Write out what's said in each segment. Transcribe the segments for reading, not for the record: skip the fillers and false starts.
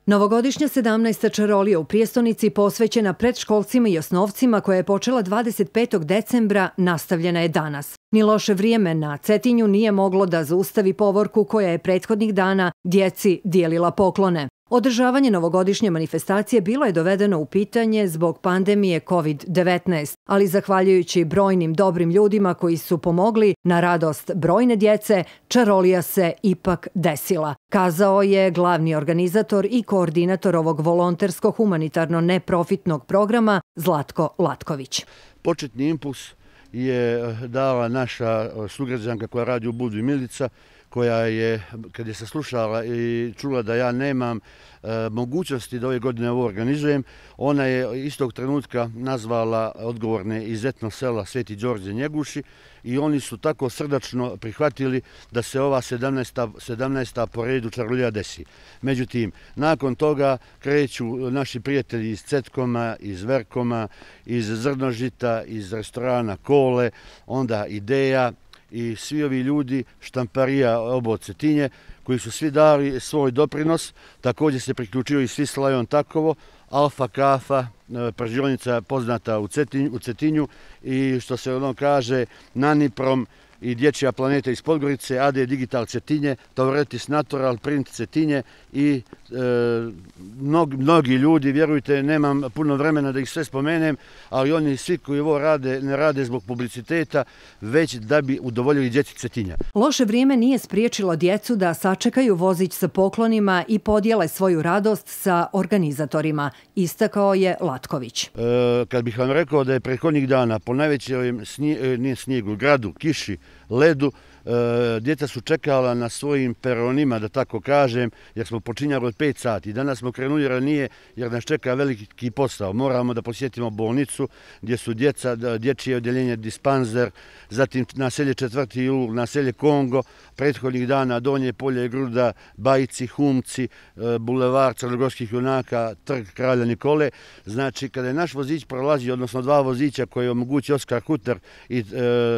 Novogodišnja 17. čarolija u prijestolnici posvećena predškolcima i osnovcima koja je počela 25. decembra nastavljena je danas. Ni loše vrijeme na Cetinju nije moglo da zaustavi povorku koja je prethodnih dana djeci dijelila poklone. Održavanje novogodišnje manifestacije bilo je dovedeno u pitanje zbog pandemije COVID-19, ali zahvaljujući brojnim dobrim ljudima koji su pomogli na radost brojne djece, čarolija se ipak desila, kazao je glavni organizator i koordinator ovog volontersko-humanitarno-neprofitnog programa Zlatko Latković. Početni impuls je dala naša sugrađanka koja radi u Budvi, Milica, koja je, kad je saslušala i čula da ja nemam mogućnosti da ove godine ovo organizujem, ona je istog trenutka nazvala odgovorne iz etno sela Sveti Đorđe Njeguši i oni su tako srdačno prihvatili da se ova 17. po redu čarolija desi. Međutim, nakon toga kreću naši prijatelji iz Cetkoma, iz Verkoma, iz Zrnožita, iz restorana Kole, onda Ideja, i svi ovi ljudi štamparija Obod Cetinje koji su svi dali svoj doprinos. Također se priključio i Svislajon Takovo, Alfa Kafa, pržionica poznata u Cetinju i što se ono kaže Naniprom i Dječja planeta iz Podgorice, AD Digital Cetinje, Tauretis Natural, Print Cetinje i mnogi ljudi, vjerujte, nemam puno vremena da ih sve spomenem, ali oni svi koji ovo rade, ne rade zbog publiciteta, već da bi udovoljili djeci Cetinja. Loše vrijeme nije spriječilo djecu da sačekaju vozić sa poklonima i podijele svoju radost sa organizatorima, istakao je Latković. Kad bih vam rekao da je prethodnih dana po najvećem snijegu, gradu, kiši, ledu, djeca su čekala na svojim peronima, da tako kažem, jer smo počinjali od 5 sati. Danas smo krenuli ranije jer nas čeka veliki posao. Moramo da posjetimo bolnicu gdje su djeca, dječje odjeljenje Dispanzer, zatim naselje 4. jul, naselje Kongo, prethodnih dana Donje polje, Gruda, Bajci, Humci, bulevar Crnogorskih junaka, trg Kralja Nikole. Znači, kada je naš vozić prolazio, odnosno 2 vozića koje omogući Oskar Huter i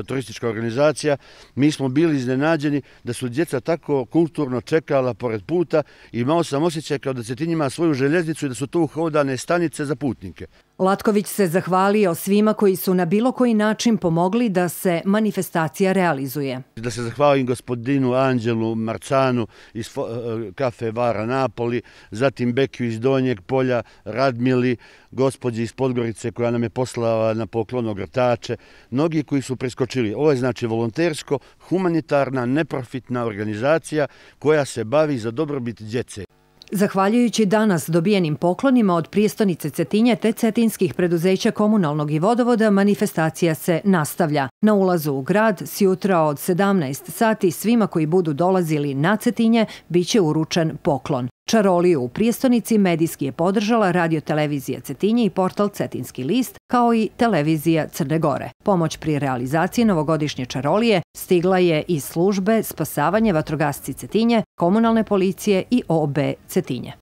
turistička organizacija, mi smo bili iznenađeni da su djeca tako kulturno čekala pored puta i imao sam osjećaj kao da Cetinj ima svoju željeznicu i da su to uhodane stanice za putnike. Latković se zahvalio svima koji su na bilo koji način pomogli da se manifestacija realizuje. Da se zahvalim gospodinu Anđelu Marcanu iz kafe Vara Napoli, zatim Bekiju iz Donjeg polja, Radmili, gospođi iz Podgorice koja nam je poslala na poklon ogrtače, mnogi koji su preskočili. Ovo je znači volontersko, humanitarna, neprofitna organizacija koja se bavi za dobrobit djece. Zahvaljujući danas dobijenim poklonima od prijestolnice Cetinje te cetinskih preduzeća komunalnog i vodovoda, manifestacija se nastavlja. Na ulazu u grad sjutra od 17 sati svima koji budu dolazili na Cetinje biće uručen poklon. Čaroliju u prijestolnici medijski je podržala Radio-televizija Cetinje i portal Cetinski list, kao i televizija Crne Gore. Pomoć pri realizaciji novogodišnje čarolije stigla je iz službe Spasavanje vatrogasci Cetinje, komunalne policije i OB Cetinje.